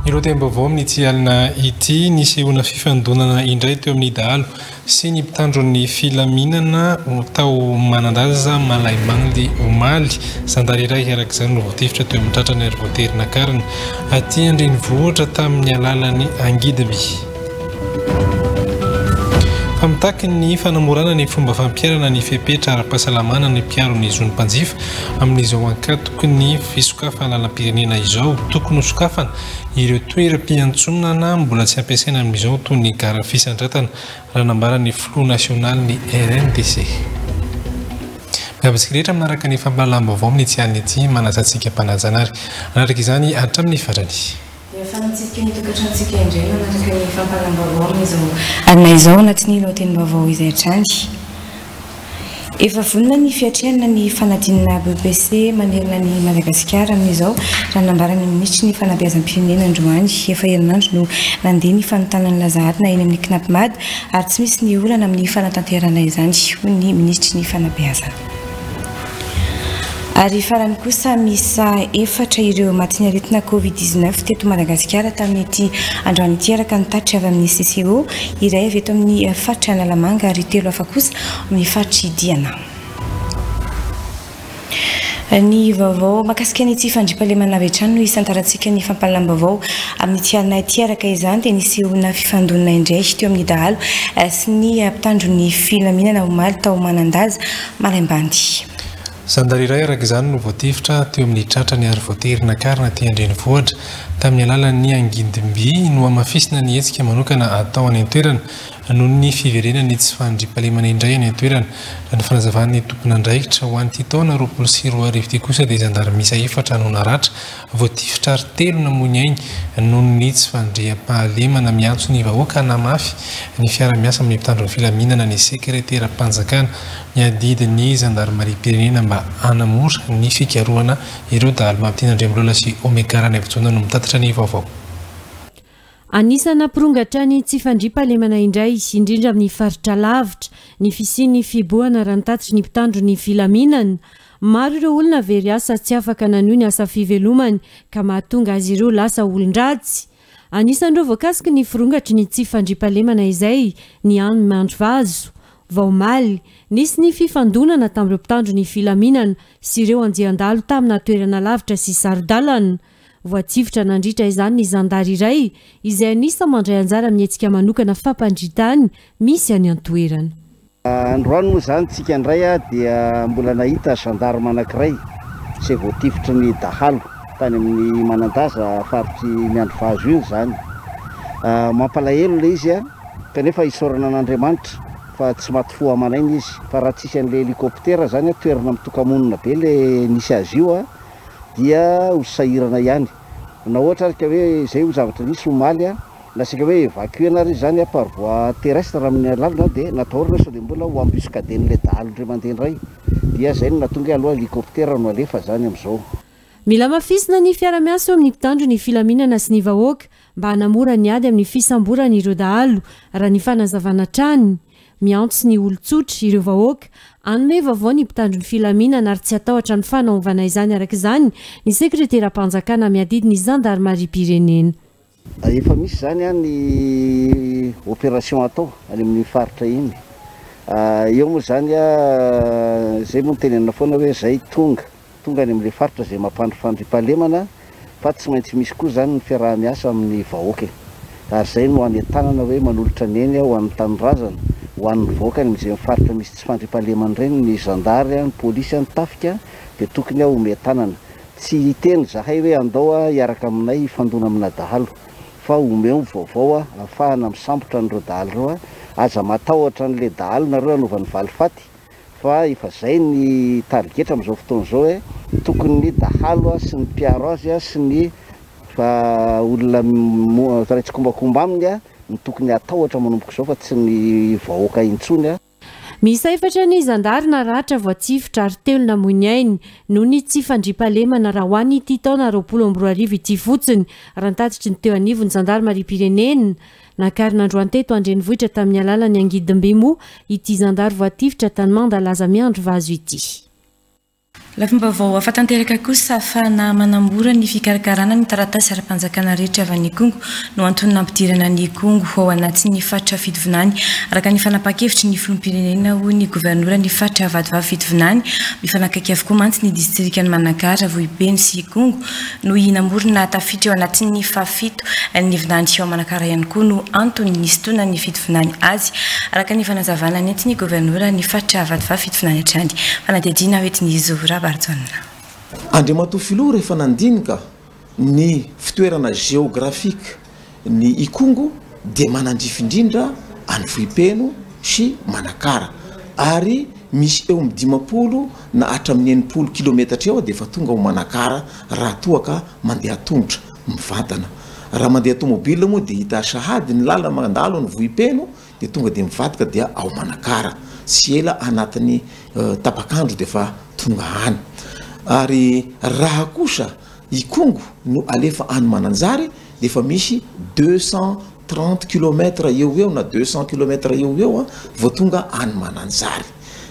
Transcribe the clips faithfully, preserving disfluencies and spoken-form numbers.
Ireo amin'ity alina ity nisehoana fifandonana indray teo amin'ny dahalo sy ny mpitandro ny filaminana tao Manandaza Malaimbandy omaly. Zandary iray araka izany no voatifitra teo amin'ny tratrany ary voatery nakarina aty an-drenivohitra tamin'ny alalan'ny angidimby. Fa mitaky ny fanamorana ny fomba fampiharana ny fepetra ara-pahasalamana ny mpiaro ny zon'ny mpanjifa amin'izao ankatoky ny fisokafana lalam-pirenena izao. Tokony hosokafana ireo toeram-piantsonana mbola tsy ampiasaina amin'izao toy ny gara fisandratana, raha nambaran'ny filoha nasionaly ny R N D C. Miavaka rehetra manaraka ny fampahalalam-baovao amin'ity alina ity, manasa antsika mpanajanary hanaraka izany hatramin'ny farany. Efa nitsidika ny tokantranontsika indray manaraka ny fampahalalam-baovao amin'izao alina izao anatin'ny lohatenim-baovao izay hatrany. Efa vonona ny fiatrehana ny fanadinana B P C manerana ny Madagasikara amin'izao, raha nambaran'ny minisitry ny fanabeazam-pirenena androany. Efa herinandro no nandeha ny fanontana ny laza adina eny amin'ny CNAPMAD ary tsy misy ny olana amin'ny fanatanterahana izany, hoy ny minisitry ny fanabeazana. Ary farany kosa miisa efatra ireo maty ny aretina Covid dix-neuf teto Madagasikara tamin'ity androany ity, araka ny tatitra avy amin'ny C C O, iray avy eto amin'ny faritra Analamanga ary telo hafa kosa amin'ny faritry Diana. Ny vaovao mahakasika ny tsy fandriampahalemana avy hatrany no isantarantsika ny fampahalalam-baovao amin'ity alina ity. Araka izany dia nisehoana fifandonana indray teo amin'ny dahalo sy ny mpitandro ny filaminana omaly tao Manandaza Malaimbandy. Zandary iray araka izany no voatifitra teo amin'ny tratrany ary voatery nakarina aty an-drenivohitra tamin'ny alalan'ny angidimby. No hamafisina ny hetsika manokana atao any an-toerana noho ny fiverenan'ny tsy fandriampahalemana indray any an-toerana. Raha ny fanazavan'ny tompon'andraikitra ho an'ity taona roapolo sy roa arivo ity kosa dia zandary miisa efatra no naratra, voatifitra ary telo namoy ny ainy noho ny tsy fandriampahalemana. Miantso ny vahoaka hanamafy ny fiarahamiasa amin'ny mpitandro ny filaminana ny sekreteram-panjakana miadidy ny zandarimariam-pirenena mba hanamora ny fikarohana ireo dahalo. Mampiteny Andriamolola sy Omega Ranaivojaona no mitatitra ny vaovao. Anisan'ny nampirongatra ny tsy fandriampahalemana indray, indrindra amin'ny faritra lavitra, ny fisian'ny fihibohana raha nitatitra ny mpitandro ny filaminana. Maro ireo olona very asa tsy afaka nanohy ny asa fivelomany ka mahatonga azy ireo lasa olon-dratsy. Anisan'ireo voakasiky ny firongatry ny tsy fandriampahalemana izay ny any Mandrovazo. Vao omaly, nisy ny fifandonana tamin'ireo mpitandro ny filaminana sy ireo andian-dahalo tamina toerana lavitra sy saro-dalana. Voatifitra nandritra izany ny zandary iray izay anisa mandray anjara amin'ny hetsika manokana fampandritany misy any an-toerana. Androany moa izany tsika indray a dia mbola nahita gendarme anankiray izay voatifitry ny dahalo tany amin'ny Manandaza faritry Miandrivazo iny izany. Mampalahelo ilay izy a, kanefa isaorana an'Andriamanitra fa tsy maty fo aman'aina izy. Fa raha tsisy an'ilay hélicoptère izany a, toerana mitoka-monina be ilay nisy azy io a, dia ho sahirana ihany. Na ohatra ary ka hoe izay ho zavatra nisy omaly a, na sika hoe évacuer-na ary izy izany a par voie terrestre amin'ny alalana dia natahorana sao dia mbola ho embuscaden'ilay dahalo indray mandeha indray. Dia izay no nahatonga hoe aloha hélicoptère no alefa izany amin'izao. Mila hamafisina ny fiarahamiasa eo amin'ny mpitandro ny filaminana sy ny vahoaka mba hanamora ny ady amin'ny fisamborana ireo dahalo, raha ny fanazavana hatrany. Miantso ny olon-tsotra ireo vahoaka hanome vaovao ny mpitandro ny filaminana ary tsy hatahotra ny fanaovana izany. Araka izany ny sekreteram-panjakana miadidy ny zandarimariam-pirenena. Efa misy izany a ny opération atao any amin'ny faritra iny. Eo moa izany a, izay moa no tenenina foana hoe izay tonga, tonga any amin'ilay faritra izay mampandry fandriampahalemana, fa tsy maintsy misy koa izany ny fiaraha-miasa amin'ny vahoaka e. Ary izay no anentanana hoe manolotra ny eny ho an'ny tanindrazana, ho an'ny vahoaka any amin'izay faritra misy tsy fandriampahalemana ireny, ny zandary, ny polisy, ny tafika dia tokony homen-tanana. Tsy hiteny zahay hoe andao hiaraka aminay hifandona amina dahalo, fa omeo vaovao ahafahana misambotra an'ireo dahalo ireo. Aza matahotra an'ilay dahalo nareo hanaovany valifaty, fa efa zay ny tarigetra amin'izao fotoana izao hoe tokony ny dahalo sy ny mpiaro azy sy ny olona mpiray tsikombakomba aminy no tokony hatahotra manomboka izao fa tsy ny vahoaka intsony. Miisa efatra ny zandary naratra voatifitra ary telo namoy ny ainy noho ny tsy fandriampahalemana raha ho an'ity taona roapolo amby roa arivo ity fotsiny, raha nitatitry ny teo anivon'ny zandarimariam-pirenena. Nakarina androany teto an-drenivohitra tamin'ny alalan'ny angidim-by moa ity zandary voatifitra tany Mandalaza miandry vazo ity. Lafim-baovao hafa tanteraka kosa, ahafahana manamora ny fikarakarana ny taratasy ara-panjakana rehetra avy any Ikongo no antony nampidirana ny Ikongo ao anatin'ny faritra Fitovinany, araka ny fanapahan-kevitry ny filoham-pirenena, hoy ny governora ny faritra Vatovavy Fitovinany. Mifanakaiky avokoa mantsy ny distrikan'i Manakara, Vohipeno sy Ikongo no Namorona tafiditra eo anatin'ny fahafito ny vinany ao Manakara ihany koa no antony nisintonan'ny Fitovinany azy, araka ny fanazavana nentin'ny governora ny faritra Vatovavy Fitovinany hatrany. Fanadihadiana hoentin'izy Rabarjaona. Andriamatoa filoha rehefa nandinika ny fitoerana géographique ny Ikongo dia manandrify indrindra any Vohipeno sy Manakara, ary misy eo amin'ny dimampolo na hatramin'ny enimpolo kilometatra eo dia efa tonga ho Manakara raha toa ka mandeha tongotra mivantana. Raha mandeha tomobile moa dia hita sahady ny lalana mandalo ny Vohipeno dia tonga dia mivadika dia ao Manakara, tsy ela anatin'ny tapak'andro dia efa tonga any. Ary raha kosa Ikongo no alefa any Mananjary dia efa misy deux cent trente kilomètres eo eo na deux cents kilomètres eo eo vao tonga any Mananjary.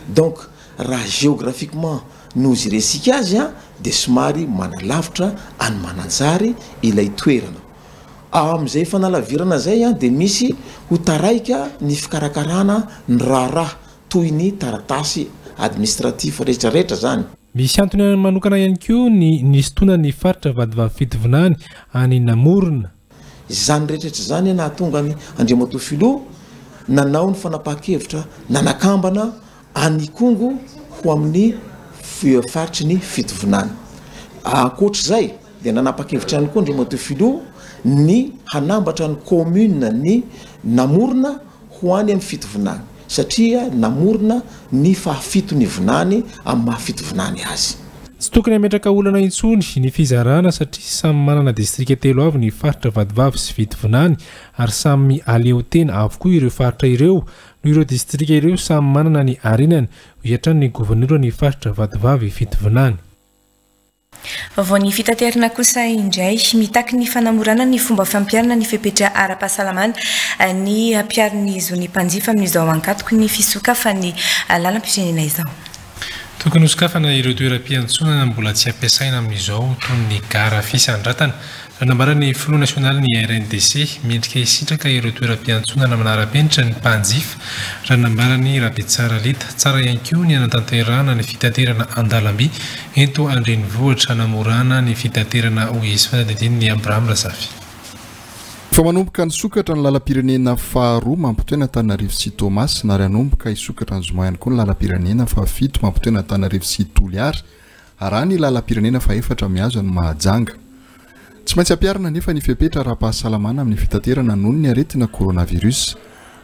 Donc raha géographiquement no iresika azy a dia somary manalavitra any Mananjary ilay toerana. Amin'izay fanalavirana zay a dia misy ho taraika ny fikarakarana ny raharaha toy ny taratasy administratif rehetrarehetra zany. Misy antony manokana ihany koa ny nisintonan'ny faritra Vatovavy Fitovinany any Namorona. Izany rehetrarehetra zany nahatonga ny Andriamatoa filoha nanao ny fanapahan-kevitra nanakambana any Ikongo ho amin'ny faritry ny Fitovinany. Ankoatr'izay dia nanapa-kevitra ihany koa Andriamatoa filoha ny hanambatra ny commune ny Namorona ho any amin'ny Fitovinany, satria Namorona ny fahafito ny vinany amin'ny maha Fitovinany azy. Tsy tokony hametraka olana intsony ny fizarana satria samy manana distrika telo avy ny faritra Vatovavy sy Fitovinany ary samy aleotena avokoa ireo faritra ireo noho ireo distrika ireo samy manana ny harenany, hoy hatrany ny governora ny faritra Vatovavy Fitovinany. Vaovao ny fitaterana kosa indray, mitaky ny fanamorana ny fomba fampiharana ny fepetra ara-pahasalamana ny ampiharin'ny zon'ny mpanjifa amin'izao ankatoky ny fisokafan'ny lalam-pirenena izao. Tokony hosokafana ireo toeram-piantsonana mbola tsy ampiasaina amin'izao toy ny gara fisandratana. Nambaran'ny filoha nasionaly ny R N D C mendrika hisitraka ireo toeram-piantsonana manara-penitra ny mpanjifa. Raha nambaran'ny Rabetsara Lita, tsara ihany koa ny hanatanterahana ny fitaterana an-dalamby eto an-drenivohitra hanamorana ny fitaterana, hoy izy. Fanadihadian'ny Abraham Razafy. Fa manomboka nisokatra ny lalam-pirenena faharoa mampitohy an'Antananarivo sy Toamasina, ary hanomboka hisokatra ny zoma ihany koa ny lalam-pirenena fahafito mampitohy an'Antananarivo sy Toliara, ary ny lalam-pirenena fahefatra mihazo an'i Mahajanga. Tsy maintsy ampiharina nefa ny fepetra ara-pahasalamana amin'ny fitaterana noho ny aretina coronavirus.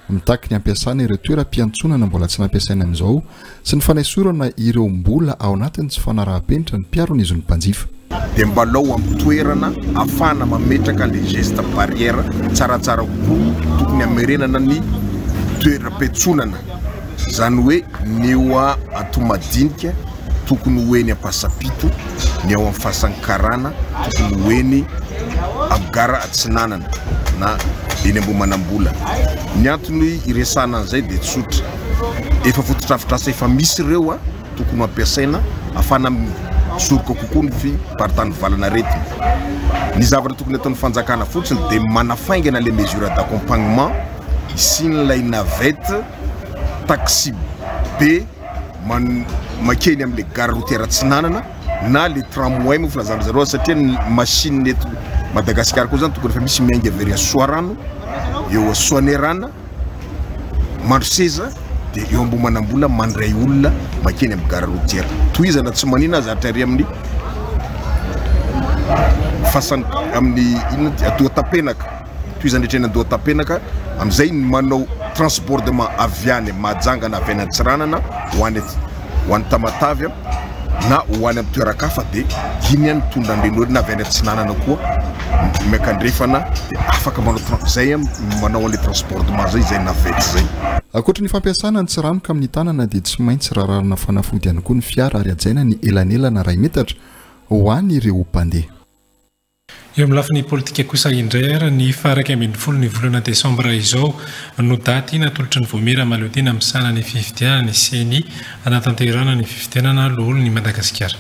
Mitaky ny ampiasana ireo toeram-piantsonana mbola tsy nampiasaina amin'izao sy ny fanaisorana ireo mbola ao anatin'ny tsy fanaraham-penitra ny mpiaro ny zon'ny mpanjifa. Dia mba lao amin'ny toerana ahafahana mametraka le geste barrière tsaratsara kokoa, tokony hamerenana ny toeram-piantsonana, izany hoe ny eo Antohomadinika tokony ho eny Ampasampito, ny ao amin'ny Fasankarana tokony ho eny amin'ny gara Atsinanana na eny Ambohimanambola. Ny antony iresahana an'izay dia tsotra, efa fotodrafitrasa efa misy ireo a tokony ho ampiasaina ahafahana misoroka kokoa ny fiparitahan'ny valanaretina. Ny zavatra tokony ataon'ny fanjakana fotsiny dia manafaingana les mesures d'accompagnement, isian'ilay navette taxi be man-, makeny amin'ilay gare routière Atsinanana na le tramway moa filazana zareo, satria ny machine eto Madagasikara koa zany tokony efa misy miainga avy ery Soarano, eo Soanerana, Mandroseza, dia eo Ambohimanambola mandray olona makeny amin'ny gare routière. Tohizana tsy manina aza hatrary amin'ny fasan-, amin'ny inona ty, Andohatapenaka. Tohizana rehetra eny Andohatapenaka, amin'izay ny manao transbordement avy any Mahajanga na avy any Antsiranana ho any, ho any Tamatave, na ho any amin'ny toeran-kafa, dia iny ihany mitondra an'ireny olona avy any atsinanana koa miakandrefana, dia afaka manao zay manao an'le transbordement zay zay navette zay. Ankoatra ny fampiasana ny tsiranoka amin'ny tanana dia tsy maintsy rarahana fanafody ihany koa ny fiara ary hajaina ny elanelana iray metatra ho an'ireo mpandeha. Eo amin'ny lafiny politika kosa indray ary, ny faha-iraika ambin'ny folo ny volana desambra izao no daty natolotry ny Vaomiera Mahaleotena misahana ny fifidianana, ny C E N I, anatanterahana ny fifidianana loholon'i Madagasikara.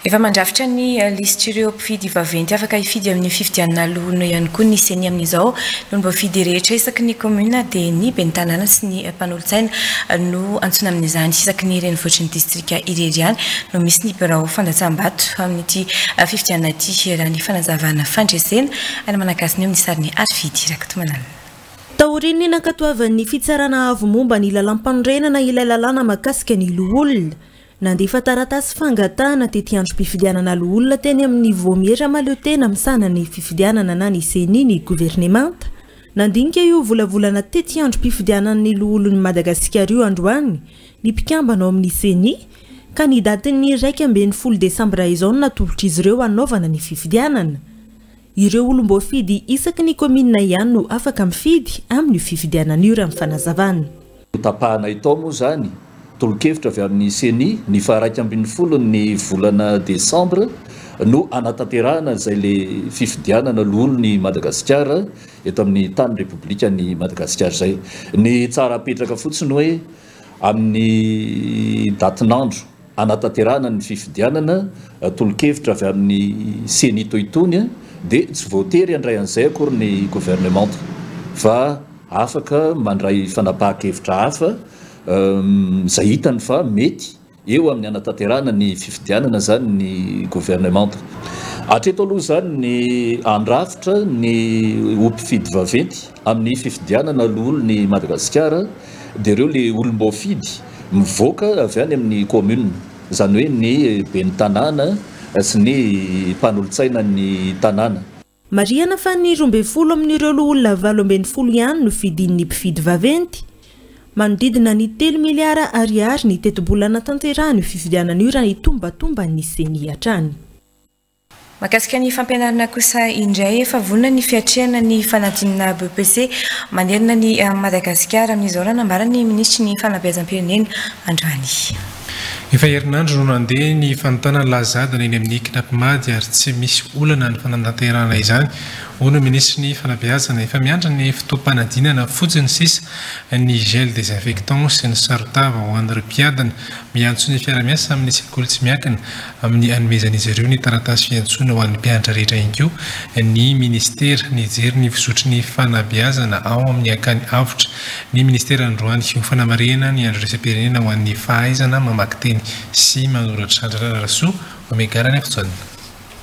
Efa mandrafitra ny lisitr'ireo mpifidy vaventy afaka hifidy amin'ny fifidianana loholona ihany koa ny C E N I amin'izao. No mbofidy rehetra isaky ny commune dia ny ben'ny tanàna sy ny mpanolotsaina no antsoina amin'izany. Isaky ny renivohitry ny distrika irery ihany no misy ny birao fandatsam-bato amin'ity fifidianana ity, raha ny fanazavana fandresena any Manakasiny eo amin'ny sariny Arvidy Rakotomanana. Taorian'ny nankatoavan'ny fitsarana avo momba ny lalam-panorenana ilay lalàna mahakasika ny loholona, nandefa taratasy fangatahana tetiandrom-pifidianana loholona teny amin'ny Vaomiera Mahaleotena misahana ny fifidianana na ny C E N I ny governemanta. Nandinika io volavolana tetiandrom-pifidianan'ny loholon'ny Madagasikara io androany ny mpikambana ao amin'ny C E N I, ka ny datin'ny raika ambin'ny folo desambra izao no natolotra izy ireo hanaovana ny fifidianana. Ireo olom-boafidy isaky ny komina ihany no afaka mifidy amin'ny fifidianana io, raha ny fanazavana. Tapahana itao moa zany tolo-kevitra avy amin'ny C E N I, ny faharaika ambin'ny folo ny volana desambra no anatanterahana zay le fifidianana loholon'i Madagasikara eto amin'ny tany Repoblika ny Madagasikara. Zay ny tsara apetraka fotsiny hoe amin'ny datin'andro anatanterahana ny fifidianana, tolo-kevitra avy amin'ny C E N I toitony a dia tsy voatery andray an'izay akory ny gouvernement fa afaka mandray fanapaha-kevitra hafa zay hitany fa mety eo amin'ny anatanterahana ny fifidianana zany ny gouvernement. Hatreto aloha zany ny andrafitra ny mpifidy vaventy amin'ny fifidianana loholon'i Madagasikara dia ireo le olom-boafidy mivoaka avy any amin'ny commune, zany hoe ny ben'ny tanàna sy ny mpanolotsaina ny tanàna. Marihana fa ny roa ambin'ny folo amin'ireo loholona valo ambin'ny folo ihany no fidin'ny mpifidy vaventy. Manodidina ny telo miliara ariary ny tetibola natanterahana io fifidianana io, raha ny tombatomba ny C E N I hatrany. Mahakasika ny fampianarana kosa indray, efa vonona ny fiatrehana ny fanadinana B E P C manerana ny Madagasikara amin'izao, raha nambaran'ny minisitry ny fanabeazam-pirenena androany. Efa herinandro no nandeha ny fanontana laza adina eny amin'ny C N A P M A D ary tsy misy olana ny fanatanterahana izany, hoy ny minisitry ny fanabeazana. Efa miandry ny fotoam-panadinana fotsiny sisa ny gel désinfectant sy ny sarotava ho an'ireo mpiadina. Miantso ny fiarahamiasa amin'ny sekoly tsy miankina amin'ny anomezan'izy ireo ny taratasy fiantsoana ho an'ny mpianatra rehetra ihany koa ny ministera. Nijery ny fizotry ny fanabeazana ao amin'ny Akany Avotra ny ministera androany ho fanamarihana ny andro iraisam-pirenena ho an'ny fahaizana mamaky teny sy manoratra. Andrararasoa omegarany afotsonina.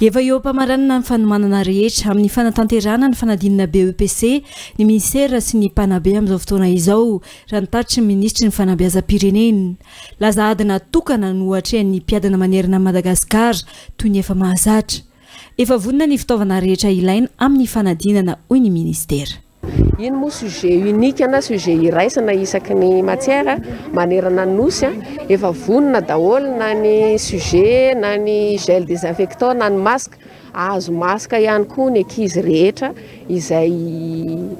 Efa eo am-pamaranana ny fanomanana rehetra amin'ny fanatanterahana ny fanadinana B E P C ny ministera sy ny mpanabe amin'izao fotoana izao, raha ny tatitry ny minisitry ny fanabeazam-pirenena. Laza adina tokana no atrehan'ny mpiadina manerana Madagasikara toy ny efa mahazatra. Efa vonona ny fitaovana rehetra ilaina amin'ny fanadinana, hoy ny ministera. Iny moa sujet unique na sujet iraisana isaky ny matière manerana nosy a efa vonona daholo na ny sujet na ny gel désinfectant na ny masque. Azo masque ihany koa ny ankizy rehetra izay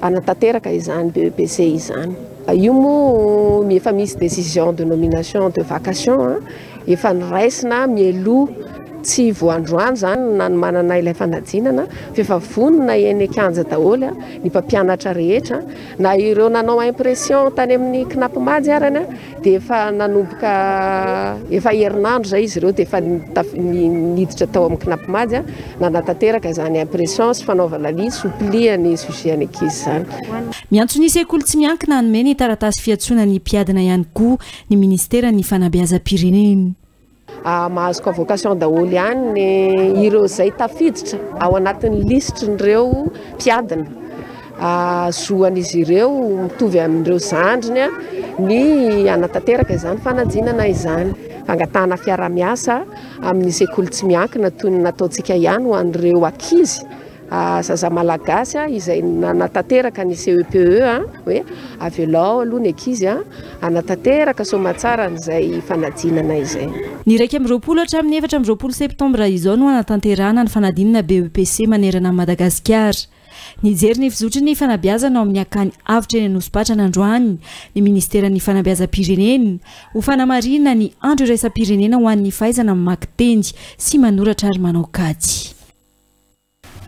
anatanteraka izany B E P C izany. Io moa efa misy décision de nomination de vacation efa noraisina mialoha, tsy voandroany zany nanomanana ilay fanadinana fa efa vonona eny an-kianja daholo a ny mpampianatra rehetra, na ireo nanao impression tany amin'ny C N A P M A D arany a dia efa nanomboka efa herinandro zay izy ireo dia efa niditra tao amin'ny C N A P M A D a nanatanteraka izany impression sy fanaovana liste hopliany sujet any ankizy zany. Miantso ny sekoly tsy miankina hanome ny taratasy fiantsoana ny mpiadina ihany koa ny ministera ny fanabeazam-pirenena. Mahazo convocation daholo ihany ny ireo izay tafiditra ao anatin'ny lisitrin'ireo mpiadina. Zoan'izy ireo mitovy amin'ireo zandriny a ny anatanteraka izany fanadinana izany. Fangatahana fiarahamiasa amin'ny sekoly tsy miankina toy ny nataontsika ihany ho an'ireo ankizy. zaza malagasy izay nanatanteraka ny C E P E hoe avelao aloha ny ankizy a anatanteraka somatsara n'izay fanadinana izay. Ny raika amby roapolo hatramin'ny efatra amby roapolo septambra izao no anatanterahana ny fanadinana B E P C manerana Madagasikara. Nijery ny fizotry ny fanabeazana ao amin'ny Akany Avotra eny Anosipatrana androany ny ministeran'ny fanabeazam-pirenena ho fanamarihana ny andro iraisam-pirenena ho an'ny fahaizana mamaky teny sy manoratra ary manao kajy.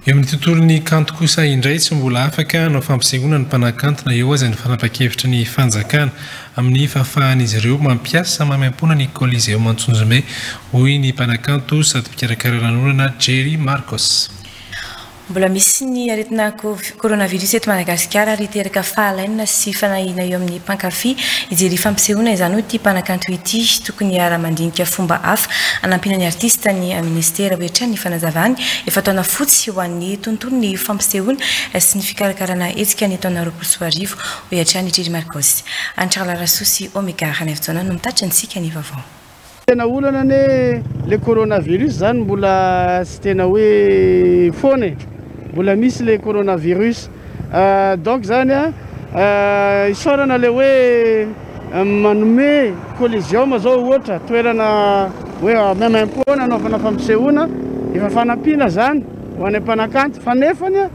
Eo amin'ny tontolon'ny kanto kosa indray, tsy mbola afaka hanao fampisehoana ny mpanakanto na eo aza ny fanapa-kevitra ny fanjakana amin'ny fahafahan'izy ireo mampiasa maimaimpoana ny Coliseum Antsonjombe, hoy ny mpanakanto sady mpikarakara lanonana Jerry Marcos. Mbola misy ny aretina coronavirus eto Madagasikara ary hiteraka fahalainana sy fanahiana eo amin'ny mpankafy hijery fampisehoana izany, hoy ity mpanakanto ity. Tokony hiara-mandinika fomba hafa anampiana ny artista ny ministera, hoy hatrany ny fanazavany. Efa taona fotsy ho an'ny tontolo ny fampisehoana sy ny fikarakarana hetsika ny taona roapolo sy roa arivo, hoy hatrany Jerry Marcos. Antralarasoa sy Omega Ranefjona no mitatitra antsika ny vaovao. Tena olana ane le coronavirus zany, mbola tsy tena hoe foana e, mbola misy le coronavirus. Donc zany a isaorana le hoe manome Coliseum zao ohatra toerana hoe maimaimpoana anaovana fampisehoana, efa fanampiana zany ho any mpanakanto. Fa nefany a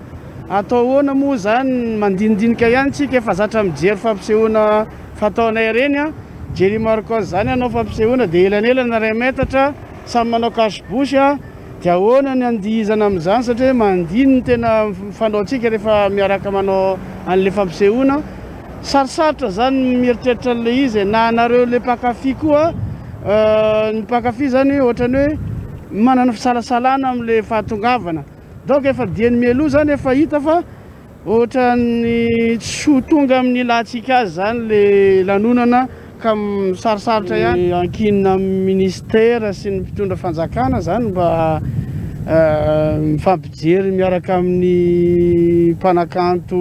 atao ahoana moa zany, mandinidinika ihany tsika, efa zatra mijery fampisehoana fataonay reny a Jerry Marcos zany anao fampisehoana de elanelana ray metatra, samy manao cache-bouche a de ahoana ny andihizana amin'izany? Satria mandiny ny tena fanaontsika rehefa miaraka manao an'le fampisehoana, sarosarotra zany mieritreritra an'le izy. Na anareo le mpankafy koa, ny mpankafy zany ohatrany hoe manana fisalasalana am'le fahatongavana. Donc efa diany mialoha zany efa hita fa ohatrany tsy ho tonga amin'ny ilantsika azy zany le lanonana, ka sarosarotra ihany. Ankinina amin'ny ministera sy ny mpitondra fanjakana zany mba mifampijery miaraka amin'ny mpanakanto,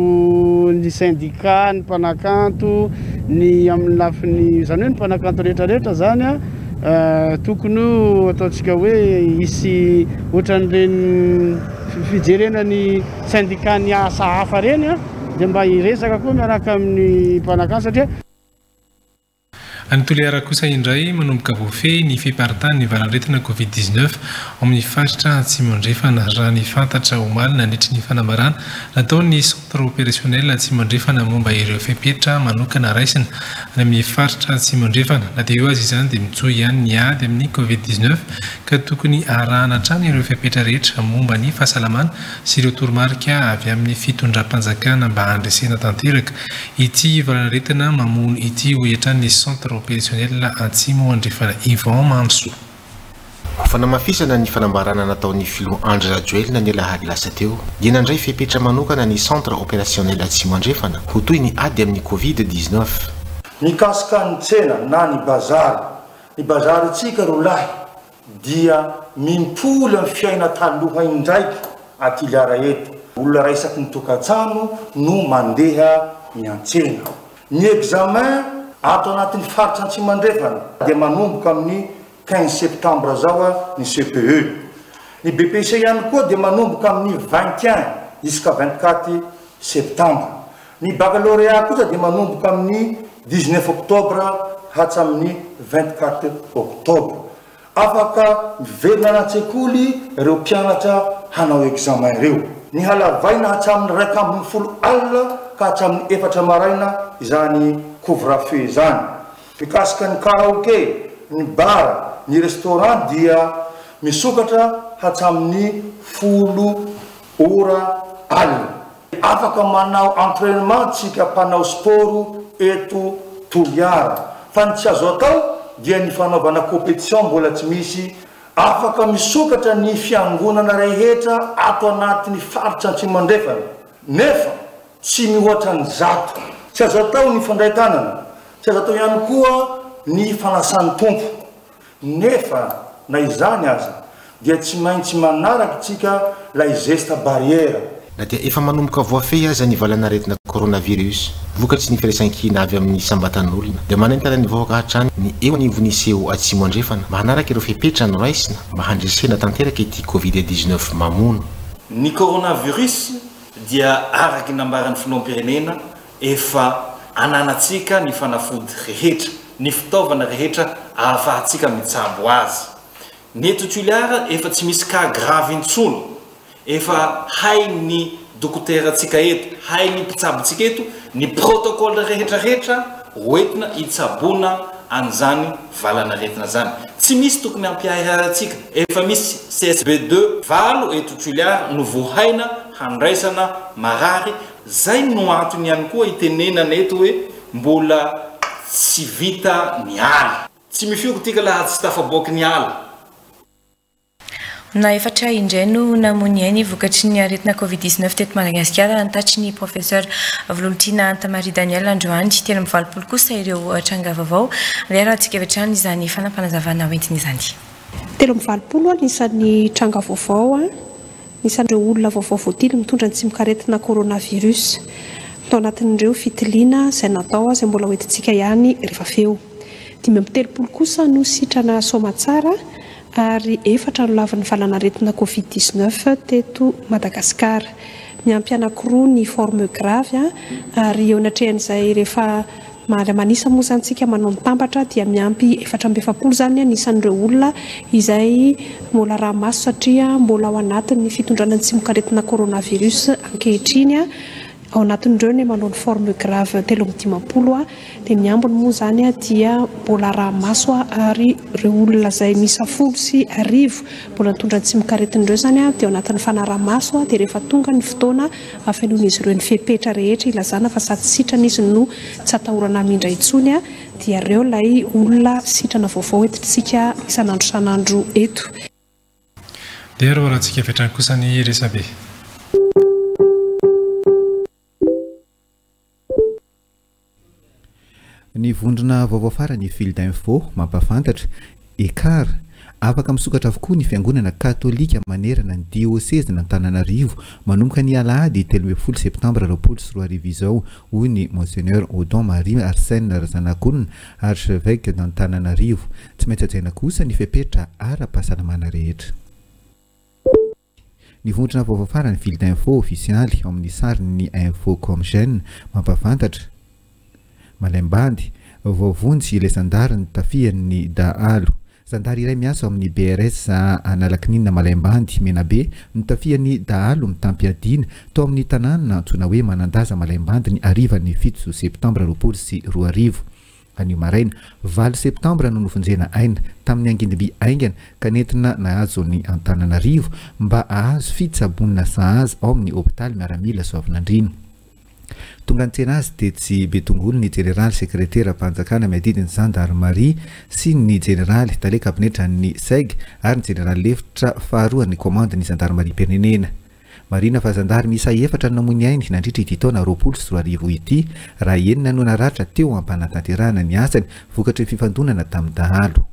ny syndicat ny mpanakanto, ny amin'ny lafiny zany hoe ny mpanakanto rehetrarehetra zany a tokony ataontsika hoe isy ohatran'ireny fijerena ny syndicat ny asa hafa reny a de mba hiresaka koa miaraka amin'ny mpanakanto satria Any Toliara kosa indray, manomboka voafehy ny fiparitahan'ny valanaretina covid dix-neuf ao amin'ny faritra Atsimo Andrefana, raha ny fantatra omaly nandritry ny fanambarana nataon'ny Centre opérationnel Atsimo Andrefana momba ireo fepetra manokana raisina any amin'ny faritra Atsimo Andrefana. Na dia eo azy izany dia mitohy ihany ny ady amin'ny covid dix-neuf ka tokony arahana hatrany ireo fepetra rehetra momba ny fahasalamana sy ireo toromarika avy amin'ny fitondram-panjakana mba handresena tanteraka ity valanaretina mamono ity, hoy hatrany ny Centre opérationnel Atsimo Andrefana. Ivan Mandroso. Ho fanamafisana ny fanambarana nataon'ny filoha Andry Rajoelina ny alahady lasa teo dia nandray fepetra manokana ny Centre opérationnel Atsimo Andrefana ho toy ny ady amin'ny covid dix-neuf. Mikasika ny tsena na ny bazary, ny bazarytsika ro lahy dia mimpoly amin'ny fiaina taloha indraiky a Toliara eto. Olona raisaky ny tokantrano no mandeha miantsena. Ny examen ato anatin'ny faritra Atsimo Andrefana dia manomboka amin'ny quinze septembre zao a ny C P E. Ny B E P C ihany koa dia manomboka amin'ny vingt un jusqu'à vingt quatre septembre. Ny baccalauréat kosa dia manomboka amin'ny dix neuf octobre hatramin'ny vingt quatre octobre. Afaka miverina anaty-sekoly ireo mpianatra hanao examen ireo. Ny halavaina hatramin'ny raika ambin'ny folo alina ka hatramin'ny efatra maraina izany couvre-feu zany. Mikasika ny karaoke, ny bar, ny restaurant dia misokatra hatramin'ny folo ora alina. Afaka manao entraînement tsika mpanao sport eto Toliara, fa ny tsy azo atao dia ny fanaovana compétition mbola tsy misy. Afaka misokatra ny fiangonana rehetra ato anatin'ny faritra Atsimo Andrefana, nefa tsy mihoatra ny zato. Tsy azo atao ny fandray-tanana, tsy azo atao ihany koa ny fanasan'ny Tompo, nefa na izany aza dia tsy maintsy manaraky tsika lay geste barrière. Na dia efa manomboka voafehy aza ny valanaretina coronavirus vokatry ny firaisankina avy amin'ny isam-batan'olona dia manentana ny vahoaka hatrany ny eo anivon'ny C O Atsimo Andrefana mba hanaraka ireo fepetra noraisina mba handresena tanteraka ity covid dix-neuf mamono. Ny coronavirus dia araky nambaran'ny filoham-pirenena efa ananantsika ny fanafody rehetra, ny fitaovana rehetra ahafahantsika mitsabo azy. Ny eto Toliara efa tsy misy cas grave intsony, efa hain'ny dokoterantsika eto, hain'ny mpitsabontsika eto ny protocole rehetrarehetra hoentina hitsaboana an'izany valanaretina zany. Tsy misy tokony hampiahiahy antsika, efa misy C S B deux valo eto Toliara no voahaina handraisana marary. Zay no antony ihany koa itenenana eto hoe mbola tsy vita ny ala, tsy mifioko tika laha tsy tafaboaky ny ala. Na efatra indray no namony ainy vokatry ny aretina covid dix-neuf teto Madagasikara, nitatitra ny professeur Vololontiana Hanta-Marie Daniel androany. Telo amby valopolo kosa ireo tranga vaovao. Arahantsika avy hatrany izany fanampanazavana hoentiny izany. Telo amby valopolo a nisan'ny tranga vaovao a nisan'ireo olona vaovao voatily mitondra ny tsimokaretina coronavirus tao anatin'ireo fitiliana izay natao izay mbola hoentintsika ihany rehefa feo. Dimy amby telopolo kosa no sitrana soa aman-tsara ary efatra no lavin'ny valanaretina covid dix-neuf teto Madagasikara. Miampy anankiroa ny forme grave a ary eo anatrehan'izay rehefa maly manisa moa zany tsika manao mitambatra dia miampy efatra amby efapolo zany anisan'ireo olona izay mbola araha-maso satria mbola ao anatin'ny fitondrana ny tsimokaretina coronavirus ankehitriny. a ao anatin'ireo ny manao ny forme grave telo amby dimampolo a dia ny ambiny moa zany a dia mbola araha-maso a ary ireo olona izay miisa folo sy arivo mbola nitondra ny tsimokaretina ireo zany a dia ao anatin'ny fanaraha-maso a dia rehefa tonga ny fotoana afenoan'izy ireo ny fepetra rehetra ilazana fa sady sitrana izy no tsy atahorana hamindra intsony a dia ireo ilay olona sitrana vaovao entintsika isan'andro isan'andro eto. Dia ro rahantsika avy hatrany kosa ny resabe. Ny vondrona vaovao farany Fil d'info mampafantatra ekar afaka misokatra avokoa ny fiangonana katolika manerana ny diocèse n'Antananarivo manomboka ny alahady telo ambin'ny folo septambra roapolo sy roa arivo izao, hoy ny Monseigneur Odon Marie Arsène Razanakolona, archevêque d'Antananarivo. Tsy maintsy hajaina kosa ny fepetra ara-pahasalamana rehetra. Ny vondrona vaovao farany Fil d'info ofisialy ao amin'ny sariny Infocom Jeune mampafantatra Malaimbandy voavonjy ilay zandary notafihan'ny dahalo. Zandary iray miasa ao amin'ny B R S Analakininina Malaimbandy Menabe notafihan'ny dahalo mitam-piadiana tao amin'ny tanàna antsoina hoe Manandaza Malaimbandy ny harivan'ny fito septambra roapolo sy roa arivo. Anio maraina valo septambra no novonjena aina tamin'ny angidimby aingana ka nentina nahazo ny Antananarivo mba ahazo fitsaboana sahaza ao amin'ny hôpitaly miaramila Soavinandriana. Tonga nitsena azy tetsy Betongolo ny jeneraly sekretera mpanjakana miadidy ny zandarmaria sy ny jeneraly tale kabinetra ny S E G ary ny jeneraly lefitra faharoa ny commande ny zandarmaria pirenena. Marina fa zandary miisa efatra no namoy ainy nandritra ity taona roapolo sy roa arivo ity, raha enina no naratra teo ampanatanterahana ny asany vokatry ny fifandonana tamin'ny dahalo.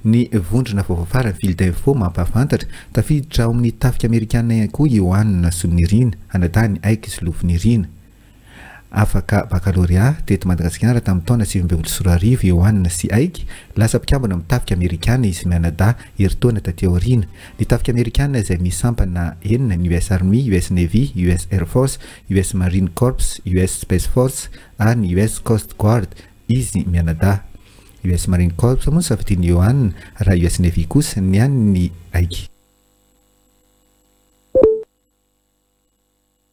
Ny vondrona vaovao farany Fil d'info mampahafantatra tafiditra ao amin'ny tafika amerikanina ihany koa Ioanina Solonirina, anadahiny Aiky Solofonirina. Afaka bakalorea teto Madagasikara tamin'ny taona sivy ambin'ny folo sy roa arivo Ioanina sy Aiky. Lasa mpikambana amin'ny tafika amerikana izy mianadahy herintaona taty aoriana. Ny tafika amerikana izay misy sampana enina: ny U S Army, U S Navy, U S Air Force, U S Marine Corps, U S Space Force ary ny U S Coast Guard. Izy mianadahy U S Marine Corps moa safidiny Ioanina, raha U S Navy kosa ny an'ny Aiky.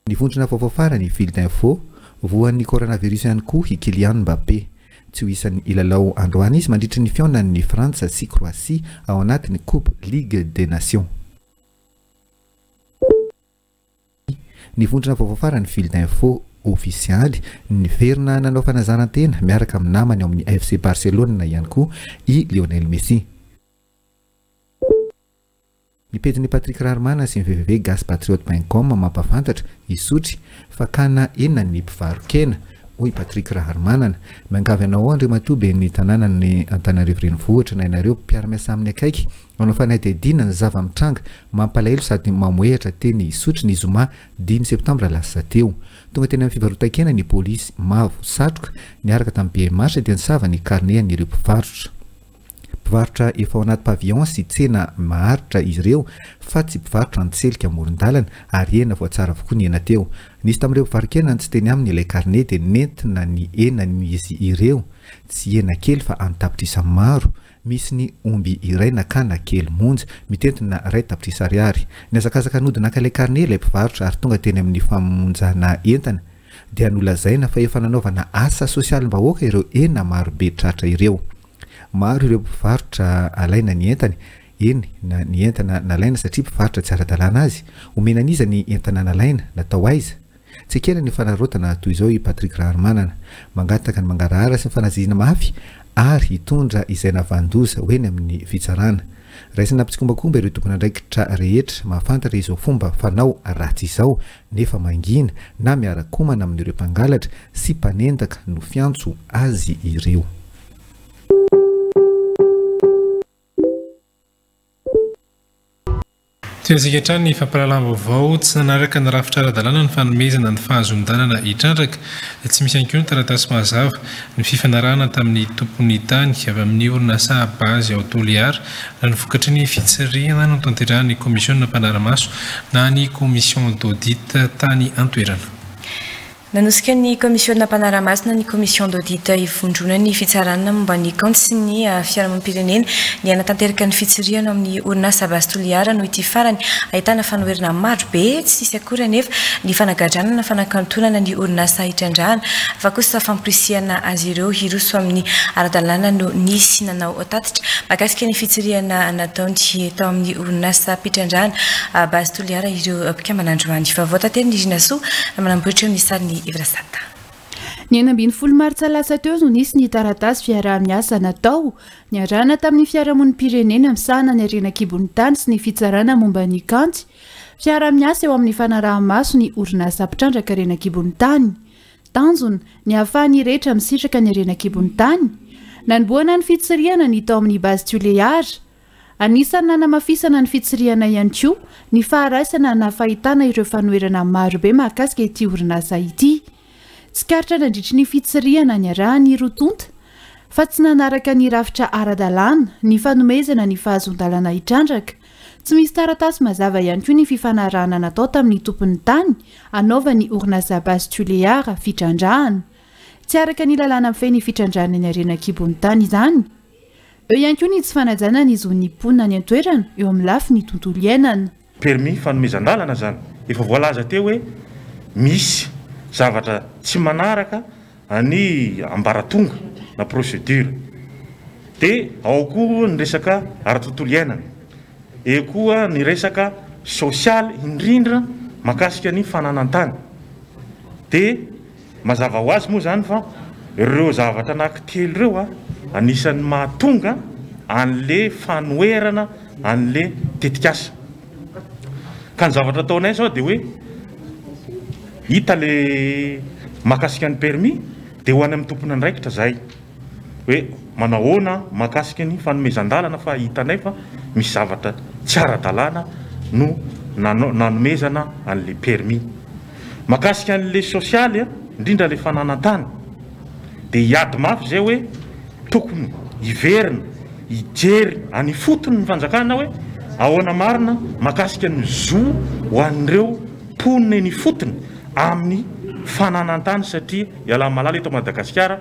Ny vondrona vaovao farany Fil d'info: voan'ny coronavirus ihany koa i Kylian Mbappé. Tsy ho isan'ny hilalao androany izy mandritra ny fihaonan'ny Frantsa sy Croatie ao anatin'ny Coupe Ligue des Nations. Ny vondrona vaovao farany Fil d'info ofisialy: niverina nanao fanazaran-tena miaraka amin'ny namany ao amin'ny F C Barcelona ihany koa i Lionel Messi. Ny pejin'ny Patrick Raharimanana sy ny W W W gaspatriote point com mampafantatra Isotry fakana enina ny mpivaro-kena, hoy Patrick Raharimanana. Miangavy anao andriamatoa ben'ny tanàna ny Antananarivo renivohitra na ianareo mpiara-miasa amin'ny akaiky manao fanadihadiana ny zava-mitranga mampalahelo sady mamoehatra teny Isotry ny zoma dimy septambra lasa teo. Tonga teny amin'ny fivarotan-kena ny polisy mavo satroka niaraka tamin'ny B M H dia nisava ny carnet an'ireo mpivarotra. Mpivarotra efa ao anaty pavillon sy tsena maharitra izy ireo fa tsy mpivarotra an-tselika amoron-dalana ary hena voatsara avokoa ny hena teo. Nisy tamin'ireo mpivarokena tsy teny aminy ilay karne dia nentina ny henan'izy ireo, tsy hena kely fa an-tapitrisa maro. Misy ny omby iray nakana kely monja mitentina iray tapitrisa ariary. Nihazakazaka nody naka ilay karne ilay mpivarotra ary tonga teny amin'ny famonjana entana dia nolazaina fa efa nanaovana asa sosialim-bahoaka ireo hena marobe tratra ireo. Maro ireo mpivarotra alaina ny entany, eny na ny entana nalaina satria mpivarotra tsy ara-dalàna azy. Omena an'iza ny entana nalaina, natao aiza? Tsy ekena ny fanarotana toy izao i Patrick Raharimanana. Mangataka ny mangarahara sy ny fanazihina mafy ary hitondra izay navandoza ho eny amin'ny fitsarana. Raisina mptsikombakomba ireo tompon'andraikitra rehetra mahafantatra izao fomba fanao ratsy izao nefa mangina na miara-komana amin'ireo mpangalatra sy mpanendaka no fiantso azy ireo. Tohizantsika hatrany ny fampahalalam-baovao. Tsy nanaraka ny rafitra ara-dalàna ny fanomezana ny fahazoan-dalana hitrandraka. Tsy misy ihany koa ny taratasy mazava ny fifanarahana tamin'ny tompon'ny tany avy amin'ny orinasa Base ao Toliara raha ny vokatry ny fitsirihana notanterahan'ny komisiona mpanara-maso na ny commission d'audit tany an-toerana. Nanosika ny komisiona mpanara-maso na ny commission d'audit ivondrona ny fitsarana momba ny kaonty sy ny fiarahamonim-pirenena ny hanatanteraka ny fitsirihana amin'ny orinasa Base Toliara noho ity farany ahitana fanoherana maro be. Tsy nisy akory anefa ny fanagadrana na fanakantonana ny orinasa hitrandrahana fa kosa famporisihana azy ireo hiroso amin'ny ara-dalàna no nisy nanao tatitra mahakasika ny fitsirihana nataony tao amin'ny orinasa mpitrandrahana Base Toliara ireo mpikambana androany. Vaovao tanteriny Rinasoa manamboatra eo amin'ny sariny Ivrasata. Ny enina ambin'ny folo martsa lasa teo no nisy ny taratasy fiaraha-miasa natao niarahana tamin'ny fiarahamonim-pirenena misahana ny harena an-kibon'ny tany sy ny fitsarana momba ny kaonty. Fiaraha-miasa eo amin'ny fanaraha-maso ny orinasa mpitrandraka harena an-kibon'ny tany. Tanjona ny ahafahan'ny rehetra misitraka ny harena an-kibon'ny tany. Nanombohana ny fitsirihana ny tao amin'ny Base Toliara. Anisan'ny nanamafisana ny fitsirihana ihany koa ny faharaisana na fahitana ireo fanoherana marobe mahakasika ity orinasa ity. Tsikaritra nandritry ny fitsirihana niarahan'ny roa tonta fa tsy nanaraka ny rafitra ara-dalàna ny fanomezana ny fahazoan-dalana hitrandraka. Tsy misy taratasy mazava ihany koa ny fifanarahana natao tamin'ny tompon'ny tany anaovan'ny orinasa Base Toliara fitrandrahana. Tsy araka ny lalàna mifehy ny fitrandrahana ny harena an-kibon'ny tany izany. Eo ihany koa ny tsy fanajana ny zon'ny mponina any an-toerana eo amin'ny lafiny tontolo iainana. Permis fanomezan-dalana zany efa voalaza teo hoe misy zavatra tsy manaraka ny ambaratonga na procédure. Dia ao koa ny resaka ara-tontolo iainana, eo koa ny resaka sosialy indrindra mahakasika ny fananan-tany. Dia mazava ho azy moa zany fa ireo zavatra anankitelo ireo a anisan'ny mahatonga an'le fanoherana an'le tetikasa. Ka ny zavatra ataonay zao dia hoe hita le mahakasika ny permis dia ho any amin'ny tompon'andraikitra zahay hoe manahoana mahakasika ny fanomezan-dalana fa hitanay fa misy zavatra tsy ara-dalàna no nanomezana an'le permis. Mahakasika an'le sosialy indrindra le fananan-tany dia hiady mafy zay hoe tokony hiverina hijery any fotony ny fanjakana hoe ahoana marina mahakasika ny zo ho an'ireo mponina eny fotony amin'ny fananan-tany satria ialahy malala eto Madagasikara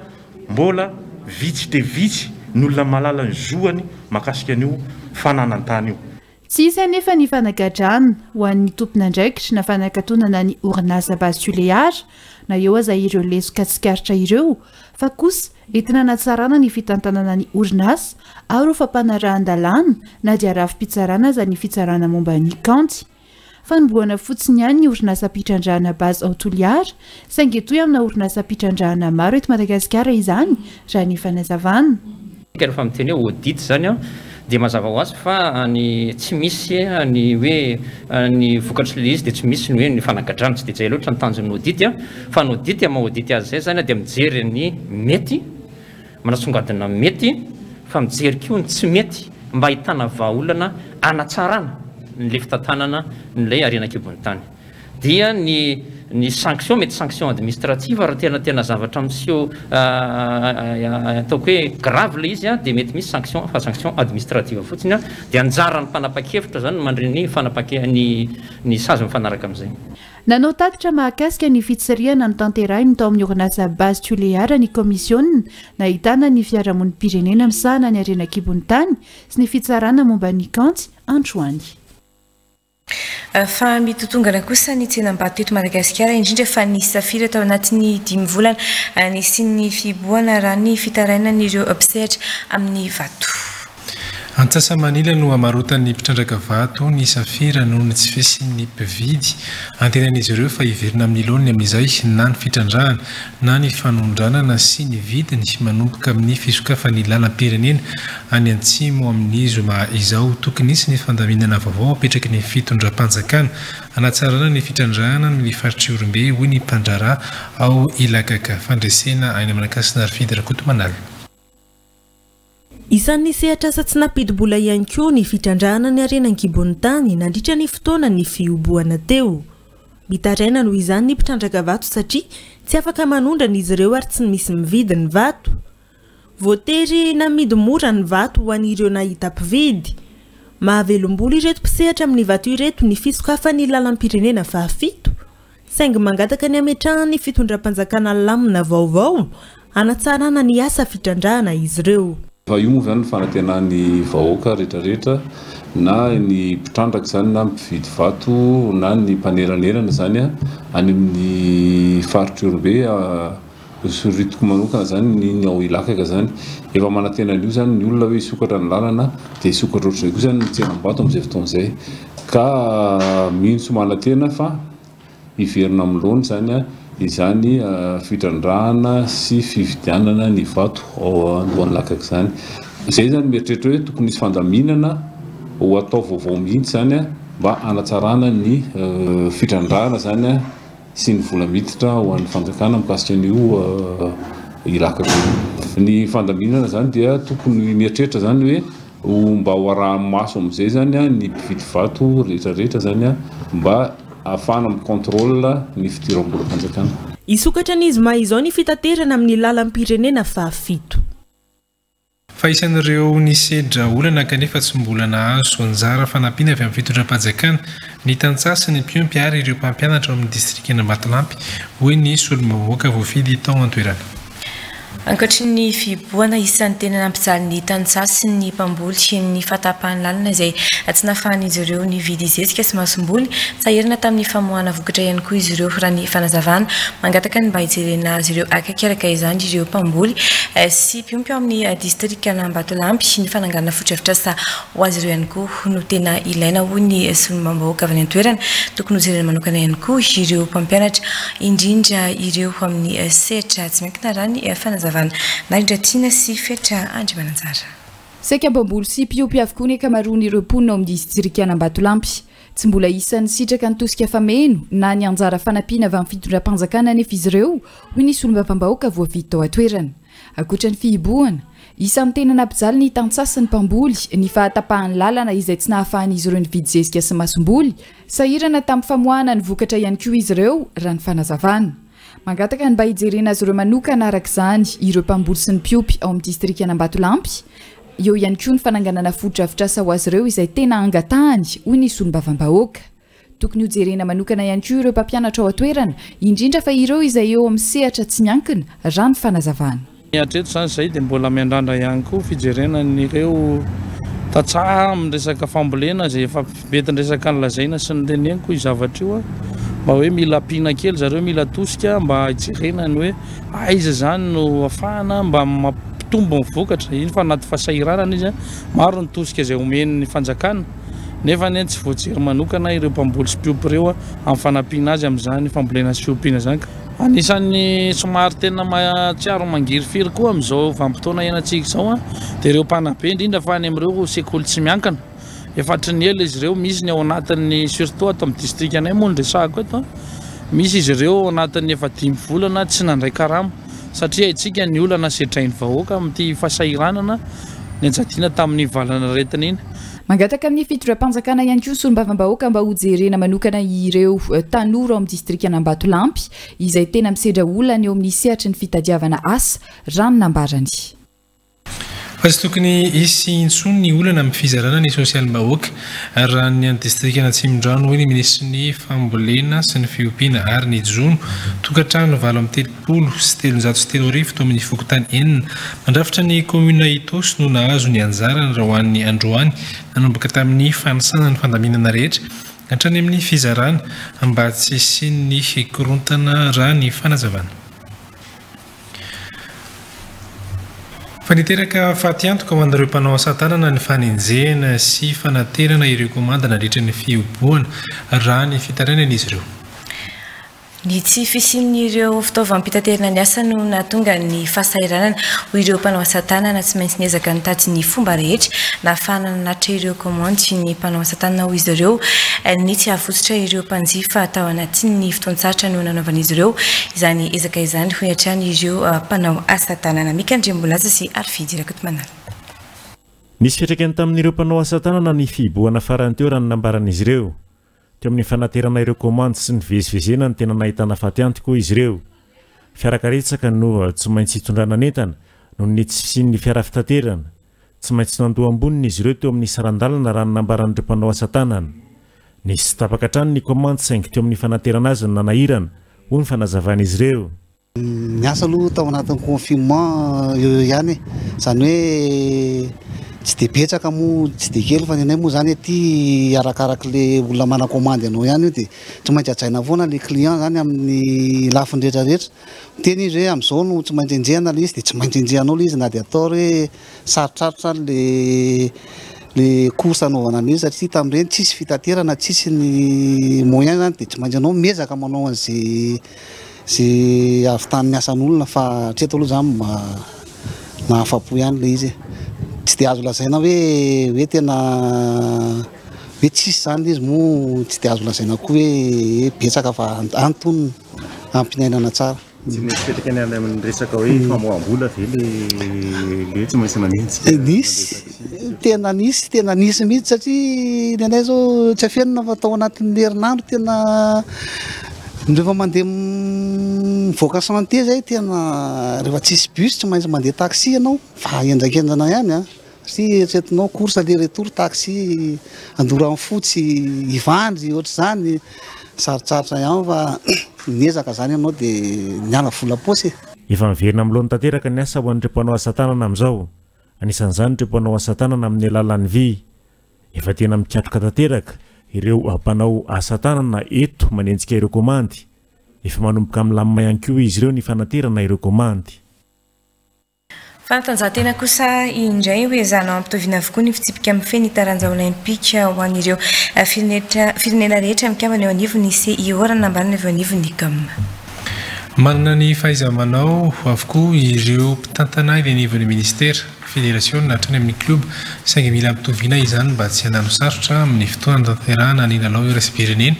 mbola vitsy dia vitsy ny olona malala ny zoany mahakasika an'io fananan-tany io. Tsy hisy anefa ny fanagadrana ho an'ny tompon'andraikitra na fanakatonana ny orinasa Base Toliara na eo aza ireo lesoka tsikaritra ireo fa kosa entina hanatsarana ny fitantanana ny orinasa ary ho fampanarahan-dalàna na dia rafi-pitsarana aza ny fitsarana momba ny kaonty. Fanombohana fotsiny ihany ny orinasa mpitrandrahana Base ao Toliara saingy etoy amina orinasa mpitrandrahana maro eto Madagasikara izany raha ny fanazavana. Rehefa miteny hoe audit zany dia mazava ho azy fa ny tsy misy ny hoe ny vokatry ilay izy dia tsy misy ny hoe ny fanagadrana, tsy dia izay loatra ny tanjon'ny audit fa ny audit maha audit azy izay zany dia mijery ny mety manasongadina mety fa mijery koa ny tsy mety mba ahitana vahaolana anatsarana ny le fitantanana n'ilay harena an-kibon'ny tany. Dia ny ny sanction, mety sanction administrative raha tena tena zavatra miseho ataoko hoe grave le izy a, dia mety misy sanction, fa sanction administrative fotsiny a, dia anjaran'ny mpanapa-kevitra zany mandray ny fanapake ny ny sazy mifanaraka amin'izay. Nanao tatitra mahakasika ny fitsirihana notanterahiny tao amin'ny orinasa Base Tuléar ny komisiona nahitana ny fiarahamonim-pirenena misahana ny harena an-kibon'ny tany sy ny fitsarana momba ny kanty androany. Fa mitotongana kosa ny tsenam-bato eto Madagasikara, indrindra fa ny safira tao anatin'ny dimy volana nisian'ny fihibohana, raha ny fitarainan'ireo mpisehatra amin'ny vato. Antsasa-manila no amarotan'ny mpitrandraka vato ny safira noho ny tsy fisian'ny mpividy. Antenain'izy ireo fa hiverina amin'ny laoniny amin'izay na ny fitrandrahana na ny fanondranana sy ny vidiny manomboka amin'ny fisokafan'ny lalam-pirenena any antsimo amin'ny zoma izao. Tokony hisy ny fandaminana vaovao apetraky ny fitondram-panjakana hanatsarana ny fitrandrahana ny faritry Ihorombe, hoy ny mpandraharaha ao Ilakaka. Fandresena aina Manakasina ary Fidy Rakotomanala. Isan'ny sehatra asa tsy nampidi-bola ihany koa ny fitrandrahana ny harena an-kibon'ny tany nandritra ny fotoana ny fihibohana teo. Mitaraina noho izany ny mpitrandraka vato satria tsy afaka manondrana izy ireo ary tsy misy mividy ny vato. Voatery namidy mora ny vato ho an'ireo nahita mpividy. Mahavelom-bolo ireto mpisehatra amin'ny vato ireto ny fisokafan'ny lalam-pirenena fahafito, saingy mangataka ny ametrahan'ny fitondram-panjakana lamina vaovao hanatsarana ny asa fitrandrahana izy ireo. Fa io moa zany ny fanantenan'ny vahoaka rehetrarehetra, na ny mpitrandraka zany, na mpividy vato, na ny mpaneranelana zany any amin'ny faritry Ihorombe, soritiko manokana zany ny ao Ilakaka zany. Efa manantena an'io zany ny olona hoe hisokatra ny lalana, dia hisokatra ohatr'izay koa zany ny tsenam-bato amin'izay fotoana izay. Ka mino sy manantena fa hiverina amin'ny laoniny zany izany fitrandrahana sy fividianana ny vato ao andohan'ny Ilakaka zany. Izay zany mieritreritra hoe tokony hisy fandaminana ho atao vaovao mihitsy zany mba hanatsarana ny fitrandrahana zany sy ny vola miditra ho an'ny fanjakana mikasika an'io Ilakaka io. Ny fandaminana zany dia tokony mieritreritra zany hoe mba ho araha-maso amin'izay zany ny mpividy vato rehetrarehetra zany mba ahafahana mi-contrôle ny fidiram-bolam-panjakana. Hisokatra ny zoma izao ny fitaterana amin'ny lalam-pirenena fahafito. Fa isan'ireo nisedra olana kanefa tsy mbola nahazo anjara fanampiana avy amin'ny fitondram-panjakana ny tantsaha sy ny mpiompy ary ireo mpampianatra ao amin'ny distrikan'Ambatolampy, hoy ny solombavambahoaka voafidy tao an-toerana. Ankoatry ny fihibohana, isan'ny tena nampijaly ny tantsaha sy ny mpamboly ny fahatapahan'ny lalana izay tsy nahafahan'izy ireo nividy zezika sy masomboly. Sahirana tamin'ny famoahana vokatra ihany koa izy ireo, raha ny fanazavana. Mangataka ny mba hijerena azy ireo akaiky araka izany ireo mpamboly sy mpiompy ao amin'ny distrikan'Ambatolampy. Ny fananganana fotodrafitrasa ho azy ireo ihany koa no tena ilaina, hoy ny solombavambahoaka avy any an-toerana. Tokony hojerena manokana ihany koa ireo mpampianatra, indrindra ireo amin'ny sehatra tsy miankina, raha ny fanazavana. Narindra Tiana sy Fetra Andriamananjara. Saika mpamboly sy mpiompy avokoa ny ankamaroan'ireo mponina ao amin'ny distrikan'Ambatolampy. Tsy mbola isan'ny sitraka ny tosika fameno na ny anjara fanampiana avy amin'ny fitondram-panjakana anefa izy ireo, hoy ny solombavambahoaka voafidy tao an-toerana. Ankoatra ny fihibohana, isan'ny tena nampijaly ny tantsaha sy ny mpamboly ny fahatapahan'ny lalana izay tsy nahafahan'izy ireo nividy zezika sy masomboly. Sahirana tamin'ny famoahana ny vokatra ihany koa izy ireo, raha ny fanazavana. Mangataka ny mba hijerena azy ireo manokana araka izany ireo mpamboly sy ny mpiompy ao amin'ny distrikan'Ambatolampy. Eo ihany koa ny fananganana fotodrafitrasa ho azy ireo izay tena angatahany, hoy ny solombavambahoaka. Tokony hojerena manokana ihany koa ireo mpampianatra ao an-toerana, indrindra fa ireo izay eo amin'ny sehatra tsy miankina, raha ny fanazavana. Hatreto izany izay dia mbola miandrandra ihany koa fijerena an'ireo tantsaha amin'ny resaka fambolena izay efa mety ny resaka nolazaina sy ny teneniko io zavatra io, mba hoe mila ampiana kely zareo, mila tosika mba hijerena ny hoe aiza izany no ahafahana mba mampitombo ny vokatra. Iny fa anaty fahasahiranana izy, maro ny tosika izay omen'ny fanjakana, nefa anie tsy voajery manokana ireo mpamboly sy mpiompy ireo amin'ny fanampiana azy amin'izany fambolena sy fiompiana izany. Anisan'ny somary tena mahatsiaro mangirifiry koa amin'izao vanim-potoana iainantsika izao dia ireo mpanabe, indrindra fa any amin'ireo sekoly tsy miankina. Efa hatry ny ela izy ireo, misy ny ao anatin'ny, surtout ato amin'ny distrikanay moa no resahako eto, misy izy ireo ao anatin'ny efa dimy volana tsy nandray karama, satria haintsika ny olana sedrain'ny vahoaka amin'ity fahasahiranana. nianjadiana tamin'ny valanaretina iny. Mangataka amin'ny fitondram-panjakana ihany koa solombavambahoaka mba hojerena manokana ireo tanora ao amin'ny distrikan'Ambatolampy izay tena misedra olana eo amin'ny sehatry ny fitadiavana asa, raha ny nambarany. Fa tsy tokony hisy intsony ny olana amin'ny fizarana ny sosialim-bahoaka raha ny any distrikan'Atsimondrano, hoy ny minisitry ny fambolena sy ny fiompiana ary ny jono. Tokantrano valo amby telopolo sy telonjato sy telo arivo tao amin'ny fokontany enina mandrafitra ny commune Itaosy no nahazo ny anjarany raha ho an'ny androany, nanomboka tamin'ny fanisana ny fandaminana rehetra hatrany amin'ny fizarana mba tsy hisian'ny korontana raha ny fanazavana. Fa niteraka fatiantoka ho an'ireo mpanao asa tanana ny fanenjehana sy fanaterana ireo komanda nandritra ny fihoboana raha ny fitarainan'izy ireo. Ny tsy fisian'ireo fitaovam-pitaterana ny asa no nahatonga ny fahasahiranana ho ireo mpanao asa tanana tsy maintsy niezaka nitady ny fomba rehetra nahafahana nanatitra ireo komandy ny mpanao asa tanana ho izy ireo. Ny tsy hahavotsitra ireo mpanjifa tao anatin'ny fotoan-tsarotra no nanaovan'izy ireo izany ezaka izany, hoy hatrany ireo mpanao asa tanana. Mika Andriambolaza sy Arfidy Rakotomanana. Nisy fiantraikany tamin'ireo mpanao asa tanana ny fihibohana farany teo raha ny nambaran'izy ireo. Teo amin'ny fanaterana ireo komandy sy ny vezivezena ny tena nahitana fatiantoka izy ireo. Fiarakaretsaka no tsy maintsy hitondrana entana noho ny tsy fisian'ny fiara fitaterana. Tsy maintsy nandoa amboniny izy ireo teo amin'ny saran-dalana raha ny nambaran'ireo mpanao asa tanana. Nisy tapaka hatrany ny komandy saingy teo amin'ny fanaterana azy ny nanahirana, hoy ny fanazavan'izy ireo. Ny asa aloha tao anatin'ny confinement eo eo ihany, izany hoe tsy dia betsaka moa, tsy dia kely, fa ny anay moa zany aty arakarak'le olona mana-komandy anao ihany io, dia tsy maintsy hajaina foana le client zany amin'ny lafiny rehetrarehetra. Miteny izy hoe amin'izao no tsy maintsy enjehana le izy, dia tsy maintsy enjehanao le izy na dia atao hoe sarotsarotra le le course anaovana an'izy, satria tamin'ireny tsisy fitaterana, tsisy ny moyen zany, dia tsy maintsy anao miezaka manao an'izay zay ahavitany asan'olona, fa hatreto aloha zany mahafapo ihany le izy. Tsy dia azo lazaina hoe hoe tena hoe tsisy zany izy moa, tsy dia azo lazaina koa hoe betsaka, fa antonona ampinainana tsara. Tsy misy fiantraikany any amin'ny resaka hoe famoaham-bola ve le le tsy maintsy manenjika? Nisy, tena nisy, tena nisy mihitsy, satria ny anay zao tsy afenina fa tao anatin'ny herinandro tena rehefa mandeha mivoaka santé zay, tena rehefa tsisy bus tsy maintsy mandeha taxi ianao, fa endrakendrana ihany a, satria eritreretinao course aller retour taxi Andoranfotsy, Ivandry, ohatr'izany, sarotsarotra ihany fa miezaka zany ianao dia miala vola paosy. Efa miverina amin'ny laoniny tanteraka ny asa ho an'ireo mpanao asa tanana amin'izao. Anisan'izany ireo mpanao asa tanana amin'ny alalan'ny vy. Efa tena mikatroka tanteraka ireo mpanao asa tanana eto manenjika ireo komandy. Efa manomboka milamina ihany koa izy ireo ny fanaterana ireo komandy. Fanatanjahantena kosa indray ho ezahana ampitoviana avokoa ny fitsipika mifehy ny taranja olympika ho an'ireo firenena rehetra mikambana eo anivon'ny C I O raha nambarana avy eo anivon'ny C O M. Manana ny fahaiza-manao avokoa ireo mpitantana eny anivon'ny ministera, federasiona hatrany amin'ny klioba, saingy mila ampitoviana izany mba tsy hanano sarotra amin'ny fotoana tanterahana ny lalao iraisam-pirenena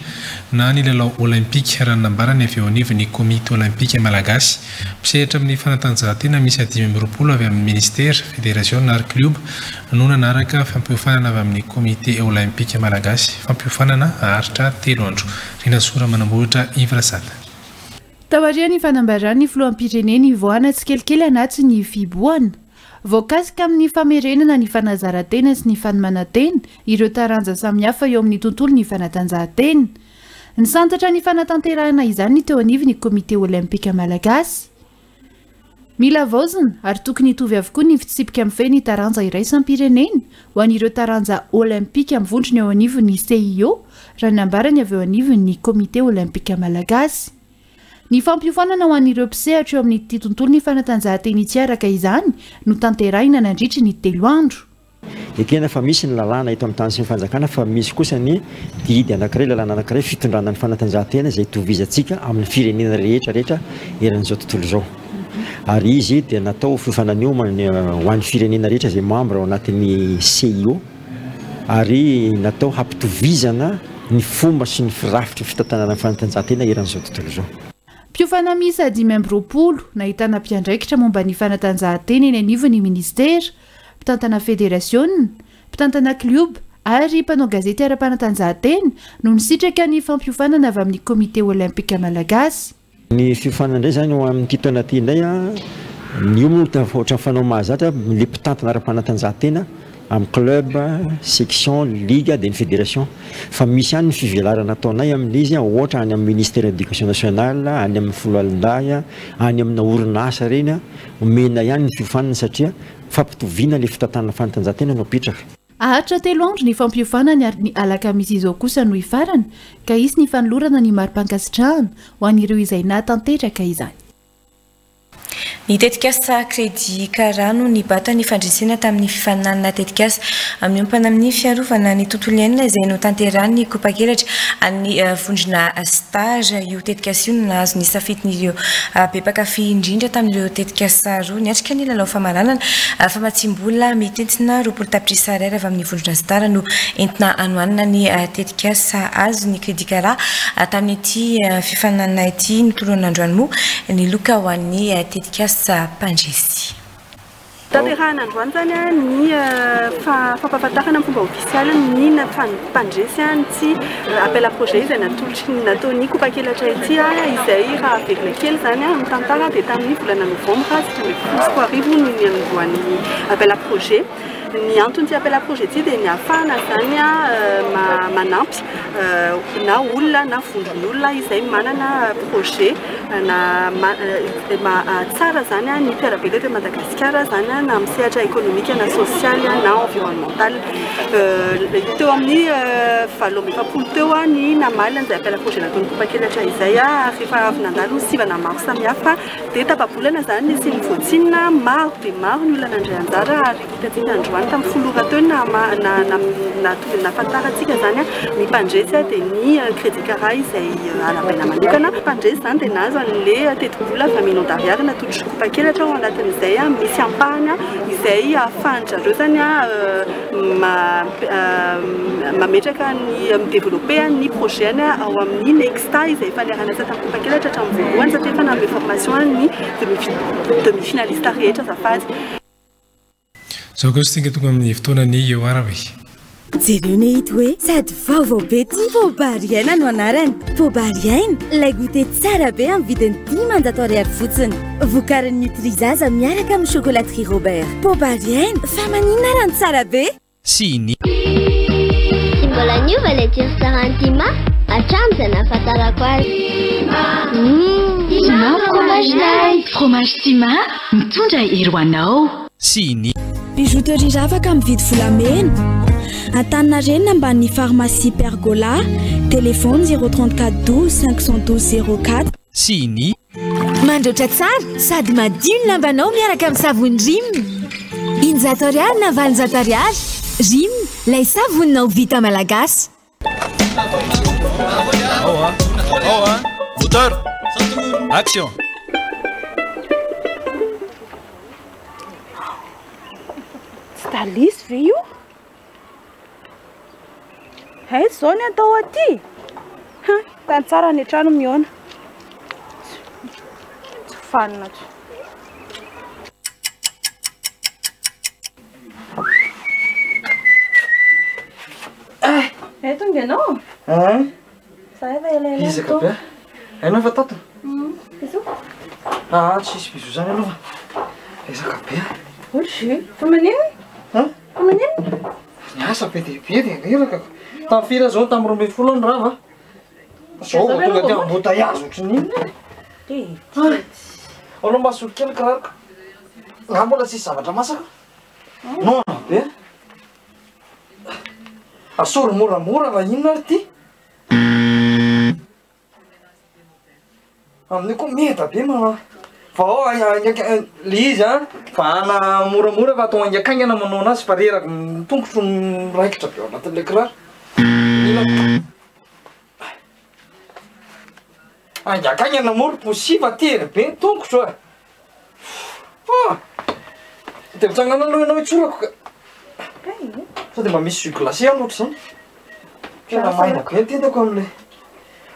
na ny lalao olympika raha nambarany avy eo anivon'ny komity olympika malagasy. Mpisehatra amin'ny fanatanjahantena misy dimy amby roapolo avy amin'ny ministera, federasiona ary klioba no nanaraka fampiofanana avy amin'ny komity olympika malagasy, fampiofanana haharitra telo andro. Rinasora Manambohitra Yves Rasata. Taorian'ny fanambaran'ny filoham-pirenena ivoahana tsikelikely anatin'ny fihibohana, voakasika amin'ny famerenana ny fanazaran-tena sy ny fanomanan-tena ireo taranja samihafa eo amin'ny tontolon'ny fanatanjahantena. Nisantatra ny fanatanterahana izany ny teo anivon'ny komite olympika malagasy. Mila havaozina ary tokony hitovy avokoa ny fitsipika mifehy ny taranja iraisam-pirenena ho an'ireo taranja olympika mivondrona eo anivon'ny C I O raha nambarany avy eo anivon'ny komite olympika malagasy. Ny fampiofanana ho an'ireo mpisehatra eo amin'ity tontolon'ny fanatanjahantena ity araka izany no tanterahina nandritry ny telo andro. Ekena fa misy ny lalàna eto amin'ny tany sy ny fanjakana, fa misy kosa ny didy anankiray, lalàna anankiray fitondrana ny fanatanjahantena izay itovizantsika amin'ny firenena rehetra rehetra eran'izao tontolo izao. Ary izy dia natao fiofanana ho an'ny firenena rehetra izay membre ao anatin'ny C I O, ary natao hampitovizana ny fomba sy ny firafitry fitantanana ny fanatanjahantena eran'izao tontolo izao. Mpiofana miisa dimy amby roapolo nahitana mpiandraikitra momba ny fanatanjahantena eny anivon'ny ministera, mpitantana federasiona, mpitantana klioba ary mpanao gazety ara-panatanjahantena no nisitraka ny fampiofanana avy amin'ny Komite Olympika Malagasy. Ny fiofanana indray zany ho amin'ity taona ity indray a, ny io moa ohatran'ny fanao mahazatra le mpitantana ara-panatanjahantena amin'ny club, section, ligue dia ny fédération. Fa misy ihany ny fivelarana ataonay amin'izy, ohatra any amin'ny ministère de l'éducation nationale, any amin'ny foloalindahy, any amina orinasa ireny, omena ihany ny fiofanana satria fampitoviana le fitantanana fanatanjahantena no apetraka. Aharitra telo andro ny fampiofanana ary ny alakamisy izao kosa no hifarana ka hisy ny fanolorana ny mari-pankasitrahana ho an'ireo izay nahatanteraka izany. Ny tetikasa Crédit Kara no nibata ny fandresena tamin'ny fifaninanana tetikasa miompana amin'ny fiarovana ny tontolo iainana izay notanterahin'ny Kopakelatra an'ny vondrona Star. Io tetikasa io no nahazo ny safidin'ireo be mpankafy indrindra tamin'ireo tetikasa roa niatrika ny lalao famaranana. Famatsim-bola mitentina roapolo tapitrisa ariary avy amin'ny vondrona Star no entina anohanana ny tetikasa azo ny Crédit Kara tamin'ity fifaninanana ity. Notolorana androany moa ny loka ho an'ny tetikasa mpandresy. Tanterahana androany zany ny fampahafantarana amin'ny fomba ofisialy ny mpandresy ny appel à projet izay natolotry ny nataon'ny Kopakelatra ity, izay raha averina kely zany amin'ny tantara dia tamin'ny volana novambra sivy ambin'ny folo sy roa arivo no niandohan'ny appel à projet. Ny anton'ity appel à projet ity dia ny ahafahana zany manampy na olona na vondron'olona izay manana projet na tsara zany ny mpiara-belona eto Madagasikara zany na amin'ny sehatra ekonomika na sosialy na environnemental. Teo amin'ny valo amby efapolo teo ny namaly an'izay appel à projet nataon'ny Kopakelatra izay, ary rehefa avy nandalo sivana maro samihafa dia tapa-bolana zany nisy ny voatsinina maro dia maro ny olona nandray anjara, ary hitantsika androany tamin'ny folo ora teo nahafantarantsika zany ny mpandresy dia ny Crédit Kara izay arahabaina manokana. Mpandresy zany dia nahazo an'ilay tetibola vingt millions d'ariary natolotry Kopakelatra ao anatin'izay misy ampahany izay ahafahan-drareo zany mametraka ny midévelopper ny projet-ny ao amin'ny Nexta izay efa niara-niasa tamin'ny Kopakelatra hatramin'ny voalohany satria efa nanome formation ny demi-finaliste rehetra azafady. Izao kosa isika tonga amin'ny fotoanany eo arabe. Jereo ne hita hoe sady vaovao be ty Poobary Aina no anarany. Poobary Aina, ilay goûter tsara be amin'ny vidiny dimanjato ariary fotsiny. Vokarin'ny Nutrizaza miaraka amin'ny chocolaterie Robert. Poobary Aina, fa maninona raha ny tsara be? Sy ny Tsy mbola niova ilay tsiro tsaran'ny Tima hatramin'izay nahafantarako azy. Tima fromage light, fromage Tima mitondra hery ho anao. Sy ny Bijouterie Ravaka mividy volamena. Antaninarenina ambanin'ny pharmacie Pergola. Téléphone zéro trente-quatre douze cinq cent douze zéro quatre. Sy ny Mandroatra tsara sady madio ny lambanao miaraka amin'ny savony Rim. Injato ariary na valonjato ariary. Rim, ilay savoninao vita malagasy. Ao a, ao a, moteur, action. Tsy talisy ve io? Aiza izao ny atao aty? Ha, tany tsara ny trano mihaona. Tsy fanina tsy. Eh, tonga ianao? Eh? Za efa elaela Iza ka be? Hainao efa tato? Bisous. Ah, tsisy bisous zany aloha. Iza ka be? Ohatry, fa maninona? Ha? Fa maninona? Niasa be dia be dia reraka. Tamin'ny firy zao tamin'ny roa ambin'ny folo ny rava. Zao vao tonga aty embouteillage ohatry ny inona. Ao aloha mba asolo kely kiraroko. Nga mbola tsisy zavatra masaka. Noana be. Asory moramora raha inona ary ity? Amin'io koa meda be mana. Fa ao le izy a, vahana moramora fa atao haingakaingana manao anazy fa reraka ny tongotro miraikitra be ao anatin'ilay kiraro. Mila haingakaingana moa ry posy fa tery be ny tongotro a. Ah! Dia mitsangana aloha ianao hitsorako ka. Sao dia mba misy jus glacé any ohatr'izany. Tena maina be ny tendako amin'ilay.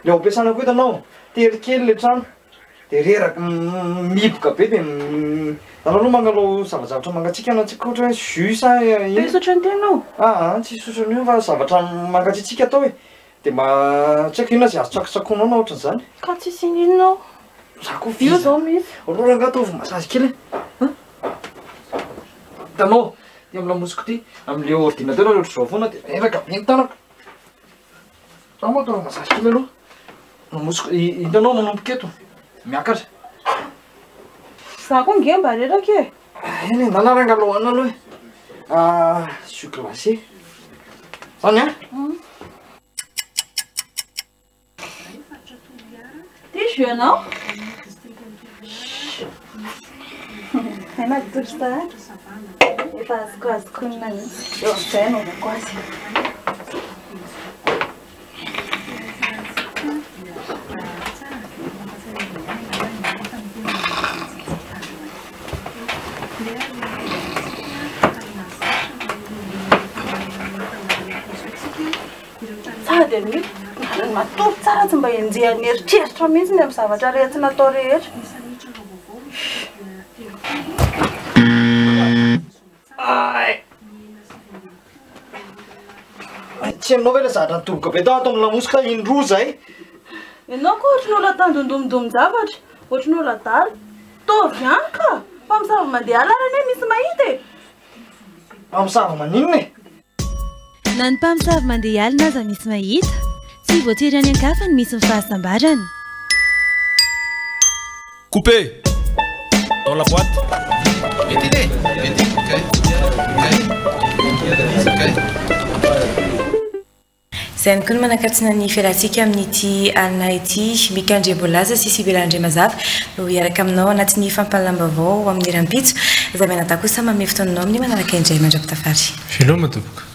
Ilay ampiasana koa hitanao, tery kely ilay trano. Dia reraka mihiboka be dia anao aloha mangalao zavazavatra mangatsiaka anao tsika ohatra hoe jus sa Te hisotro ny tenao? Ah, tsy hisotro an'io fa zavatra mangatsiatsiaka atao e. Dia mba tsy haiko inona izay azo tsakotsakoinao na ohatran'izany. Ka tsisy ininona ao. Za koa Io zao misy. Roa rangahy ataovy massage kely e. Hitanao, ty amin'ny lamosiko ty, amin'ilay ordinateur ohatr'izao foana dia reraka be ny tanako. Za moa ataovy massage kely aloha. Lamosiko, hitanao manomboka eto, miakatra. Za koa nge mba reraka e. Eny e, ndana rangahy aloha hohanina aloha e. Ah, jus glacé. Zany a? Ty jus anao? Hay matory sahady. Efa azoko azoko mihitsy. Eo amin'izay anaovako azy. Sady aloha matory tsara tsy mba enjehan'ny eritreritra mihitsy ny amin'ny zavatra rehetra natao rehetra. Ay. Tsy hainao ve ilay zavatra nitoroka be tao ato amin'ny lamosika indroa izay? Ianao koa ohatry ny olona tandindomindomin-javatra, ohatry ny olona adala. Taovy ihany ka! Mpamosavy mandeha alina anie misy mahita e! Mpamosavy maninona e? Na ny mpamosavy mandeha alina aza misy mahita, tsy voatery any an-kafa no misy ny fahasambarana. Coupé dans la boîte. Mettez-les. Ok. Ok. Ok. Izay ihany koa no manakatsina ny fialantsika amin'ity alina ity. Mika Andriambolaza sy Sibela Andriamazava no hiaraka aminao anatin'ny fampahalalam-baovao amin'ny rahampitso. Izay mianadahy kosa manome fotoananao amin'ny manaraka indray mandra-pitafary. Veloma tompoko.